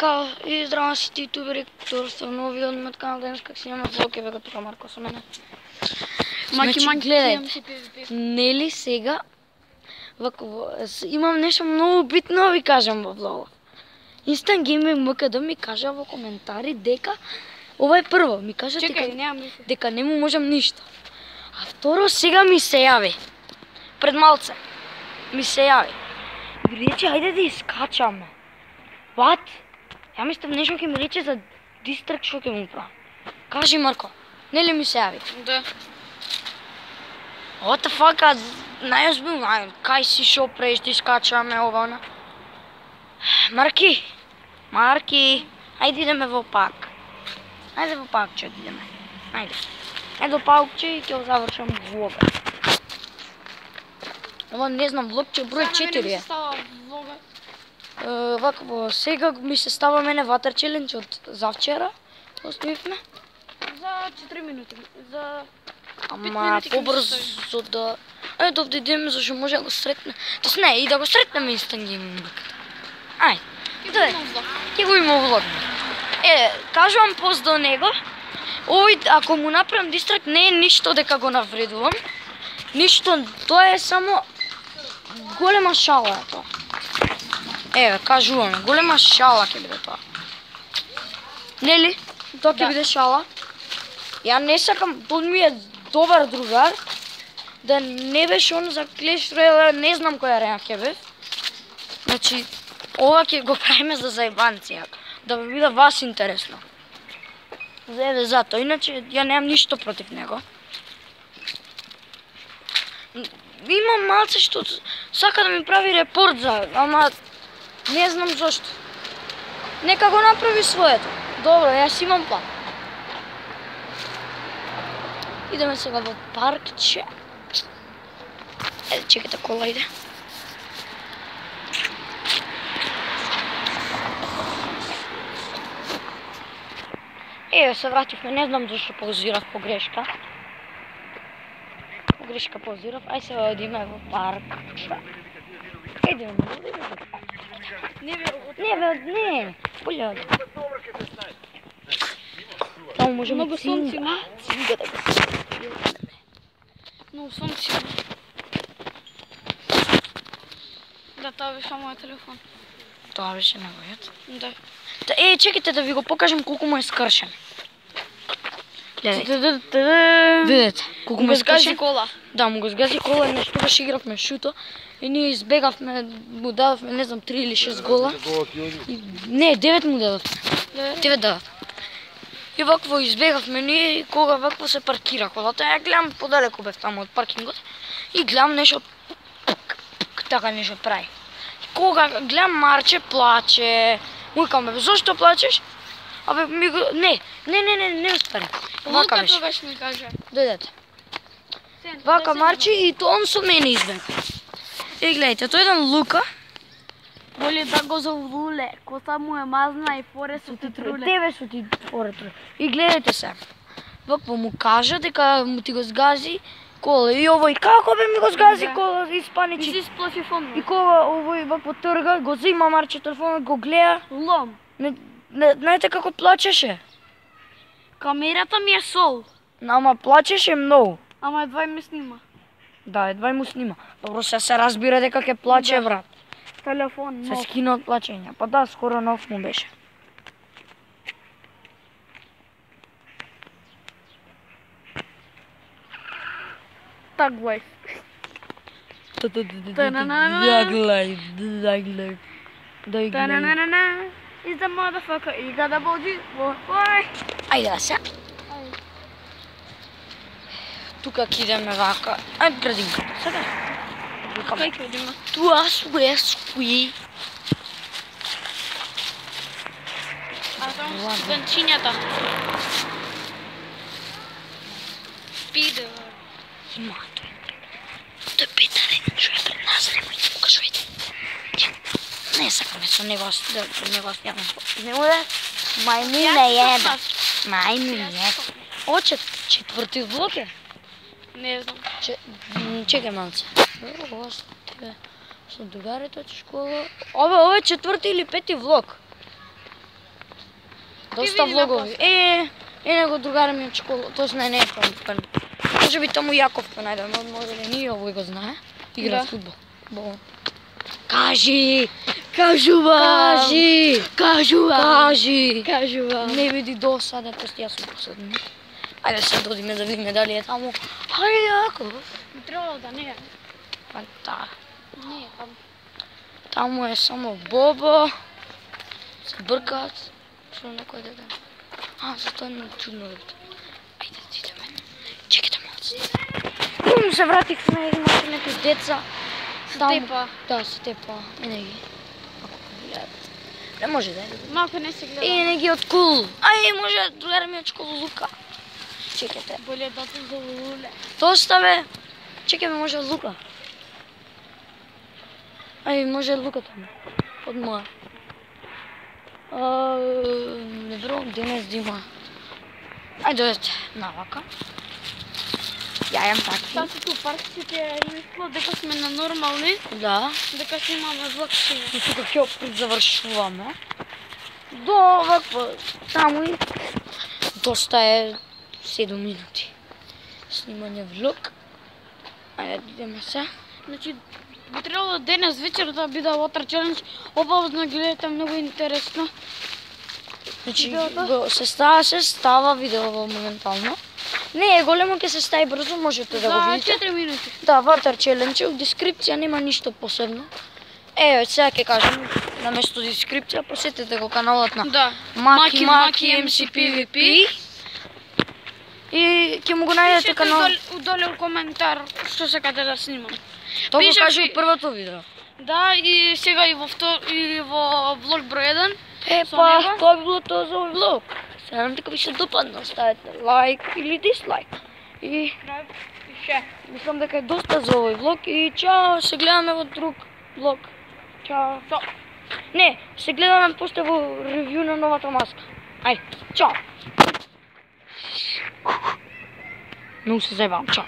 Така, и здраво на сите ютубери, тоа сте нови од мојот канал, денес как снимаме влог, е бега тука Марко со мене. Значи, гледајте, нели сега, имам нешто многу битно да ви кажам во влогот. Instant Gaming МКД ми кажа во коментари дека ова е прво, ми кажа дека не му можам ништо. А второ сега ми се јави. Пред малце ми се јави. Ви рече ајде да искачаме. What? Ја мислам нешто ќе ми рече за дистракт што ќе му правам. Кажи Марко, нели ми се јави? Да. What the fuck, најозбилно, кај си шо преш да искачаме ова она? Марки, ајде идеме во парк. Ајде во паркче идеме. Ајде. Ајде во паркче и ќе завршам влога. Ова не знам, влогче број 4 е. Вако, сега ми се става мене ватер челендж од завчера. Оставивме. За 4 минути. За 5 Ама минути. побрзо да... Ето овде идеме зашто може да го сретне. Тоест не, и да го сретнеме Instant Gaming. Ајде. Ќе го има влог. Кажувам пост до него. Овој, ако му направам дистракт, не е ништо дека го навредувам. Ништо, тоа е само голема шала е тоа. Еве, кажуваме, голема шала ќе биде тоа. Нели? Тоа ќе биде шала. Ја не сакам, тој ми е добар другар. Да не беше он за Clash Royale, не знам која реа ќе бе. Значи, ова ќе го правиме за заебанција, да ви биде вас интересно. Еве зато, иначе ја немам ништо против него. Имам малце што сака да ми прави репорт за, ама не знам зошто. Нека го направи своето. Добро, јас имам план. Идеме сега во паркче. Еде, чекайте, кола иде. Еве се вративме, не знам зашто паузирав погрешка. Погрешка паузирав, ај сега одиме во парк. Идеме, не, боле оди. Таму можеме Многу сонце има. Цинга да го свидиме. Многу сонце има. Да, тоа беше мојот телефон. Тоа беше неговиот. Да. Чекайте да ви го покажам колку му е скршен. Гледайте. Видете колку му е скршен. кола. Да, му го сгази кола, нешто беше игравме шуто и ние избегавме, му дадовме, не знам, 3 или 6 гола. Не, 9 му дадовме. 9 дадов. И вакво избегавме ние и кога вакво се паркира колата, ја гледам подалеку бев таму од паркингот и гледам нешто така нешто прави. Кога гледам Марче плаче, викам бе, зошто плачеш? Абе ми го не успере. Вака беше. Лука ми каже. Дојдете. Вака Марче и тоа он со мене избега. И гледайте, тој еден Лука. Боли да го завуле, коса му е мазна и поре со ти труле. Тебе со ти поре труле. И гледайте се. Вакво му кажа дека му ти го сгази кола. И овој како бе ми го сгази кола, испаничи. И си сплаши фон. И кога овој вакво трга, го зема Марче телефонот, го гледа. Лом. Знаете како плачеше? Камерата ми е сол. Ама плачеше многу. Ама едва ми снима. Да, едва му снима. Добро се разбира дека ќе плаче, Да. брат. Телефон, Се нов. скина од плачење. Па да, скоро нов му беше. Так лайф. Та-на-на-на. Is the motherfucker, you got a body, boy. Ајде да се. Тука ќе идеме вака. Ајде градинката. Сега. Кај ќе одиме? Туа суе скуи. А таму студентчињата. Пидор. Има тој. Тој петарен што е пред нас, немој да покажувате. Не сакаме со него да јавам. Не му да мајму не јебе. Мајму не јебе. О, четврти влог е? Не знам. Чекај малце. Ова со другарите од школа. Ова е четврти или пети влог. Доста види влогови. Него другари ми од школа, тоест не е пан. Може би таму Јаков ка најдеме, може да ние овој го знае. Игра Да. фудбал. Бо. Кажи! Кажи! Не види досада, тоест јас сум последен. Ајде се додиме да видиме дали е таму. Ајде Јаков. Би требало да не е. Па да. Не е таму. Таму е само Бобо. Се бркаат. Што некој да. Зато е чудно луѓето. Ајде да идеме. Чекайте малце. Се вратихме, имате некои деца. Тепа. Да, се тепа. Не ги. Ако гледат. Не може да е. Малко не се гледа. Не ги од кул. Може другари ми од школа Лука. Чекайте. Боле да се заволуле. Доста бе. Чекаме, може Лука. Може Лука таму. Од моја. Не верувам денес да има. Дојдете навака. Ја јам такви. Таа се ту парксите мисло дека сме на нормални, Да. дека си имаме влакшина. И тука ќе опред завршуваме. До оваква таму и доста е 7 минути. Снимање влог. Ајде да идеме се. Значи, би требало денес вечер да биде Water Challenge. Обавно гледате, многу интересно. Значи, Видеото? се става видео моментално. Не е големо, ќе се стави брзо, можете да го За видите. 4 минути. Да, Water Challenge, в дескрипција нема ништо посебно. Сега ќе кажем, наместо дескрипција, посетете го каналот на Да. Маки MCPVP. И ќе му го најдете Пишете канал. удоле у коментар што сакате да снимам. Тоа го пишете- кажи од првото видео. Да, и сега и во влог број 1. Со Па, него? тоа би било тоа за овој влог. Се надам дека ви се допадна, ставете лайк или дислайк. И Пише. мислам дека е доста за овој влог и чао, се гледаме во друг влог. Чао. Не, се гледаме после во ревју на новата маска. Ајде, чао. Многу се зајбавам, чао.